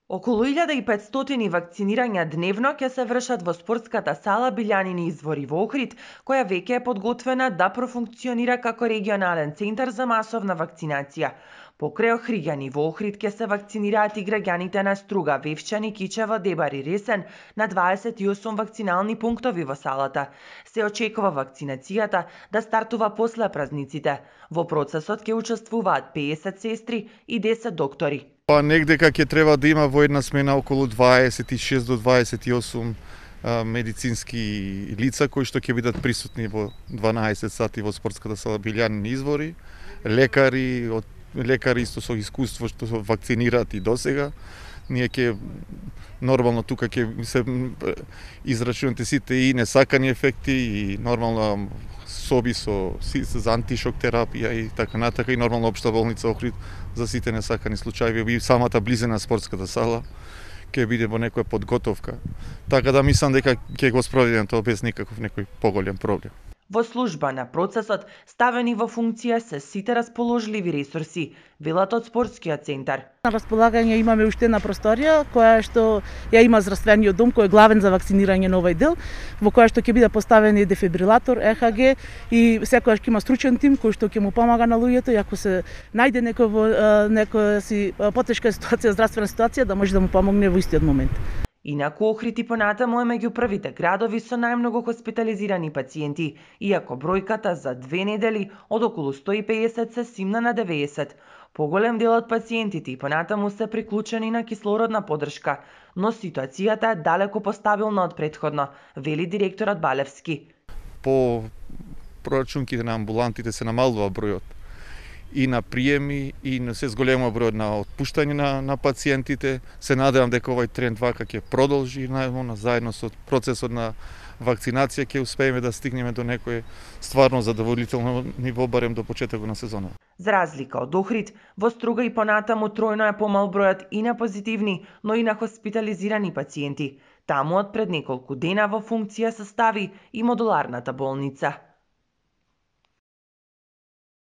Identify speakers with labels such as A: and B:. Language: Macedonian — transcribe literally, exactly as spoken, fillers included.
A: Околу илјада и петстотини вакцинирања дневно ќе се вршат во спортската сала Билјанини извори во Охрид, која веќе е подготвена да профункционира како регионален центар за масовна вакцинација. Покрај Охриѓани во Охрид ќе се вакцинираат и граѓаните на Струга, Вевчани, Кичево, Дебар и Ресен на дваесет и осум вакцинални пунктови во салата. Се очекува вакцинацијата да стартува после празниците. Во процесот ќе учествуваат пеесет сестри и десет доктори.
B: Па негде ќе треба да има во една смена околу дваесет и шест до дваесет и осум а, медицински лица кои што ќе бидат присутни во дванаесет сати во спортската сала Билјанини извори, лекари, од лекари исто со искуство што вакцинираат и досега. Ние ќе нормално тука ќе се израчунате сите и несакани ефекти и нормално соби со за антишок терапија и така натака и нормално општа болница Охрид за сите несакани случаи и самата близина спортската сала ќе биде во некоја подготовка. Така да мислам дека ќе го спроведеме тоа без никаков некој поголем проблем.
A: Во служба на процесот ставени во функција се сите расположливи ресурси, велат од спортскиот центар.
C: На располагање имаме уште една просторија која што ја има здравствениот дом кој е главен за вакцинирање на овој дел, во која што ќе биде поставен и дефибрилатор, Е Х Г и секогаш ќе има стручен тим кој што ќе му помага на луѓето и ако се најде некој во некоја си потешка ситуација, здравствена ситуација, да може да му помогне во истиот момент.
A: Инаку Охрид и понатаму е меѓу првите градови со најмногу хоспитализирани пациенти, иако бројката за две недели од околу сто и пеесет се симна на деветдесет. Поголем дел од пациентите и понатаму се приклучени на кислородна поддршка, но ситуацијата е далеку постабилна од претходно, вели директорот Балевски.
B: По прорачунките на амбулантите се намалува бројот и на приеми и на се зголема бројот на отпуштање на, на пациентите. Се надевам дека овој тренд вака ќе продолжи, најмно заедно со процесот на вакцинација ќе успееме да стигнеме до некој стварно задоволително ниво барем до почетокот на сезона.
A: За разлика од Охрид, во Струга и понатаму тројно е помал бројот и на позитивни, но и на хоспитализирани пациенти. Таму од пред неколку дена во функција се стави и модуларната болница.